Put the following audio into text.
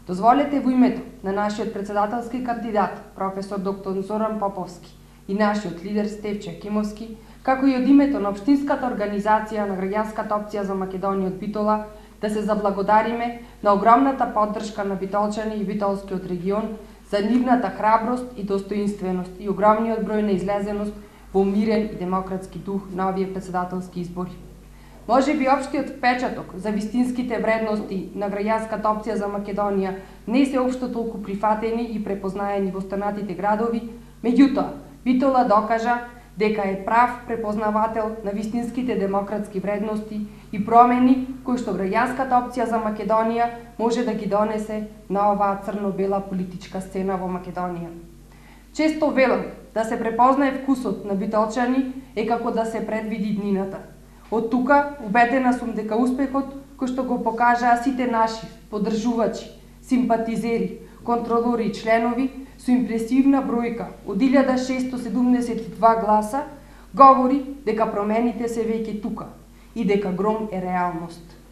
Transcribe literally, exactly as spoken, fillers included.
Дозволете во името на нашиот председателски кандидат, професор доктор Зоран Поповски, и нашиот лидер Стефче Акимовски, како и од името на Општинската организација на граѓанската опција за Македонија од Битола, да се заблагодариме на огромната поддршка на битолчани и битолскиот регион за нивната храброст и достоинственост и огромниот број на излезеност во мирен и демократски дух на овие председателски избори. Може би општиот впечаток за вистинските вредности на граѓанската опција за Македонија не се општо толку прифатени и препознаени во останатите градови, меѓутоа Битола докажа дека е прав препознавател на вистинските демократски вредности и промени кои што граѓанската опција за Македонија може да ги донесе на оваа црно-бела политичка сцена во Македонија. Често велам да се препознае вкусот на битолчани е како да се предвиди днината. Од тука убедена сум дека успехот кој што го покажаа сите наши поддржувачи, симпатизери, контролори и членови со импресивна бројка од илјада шестоста седумдесет и два гласа говори дека промените се веќе тука и дека гром е реалност.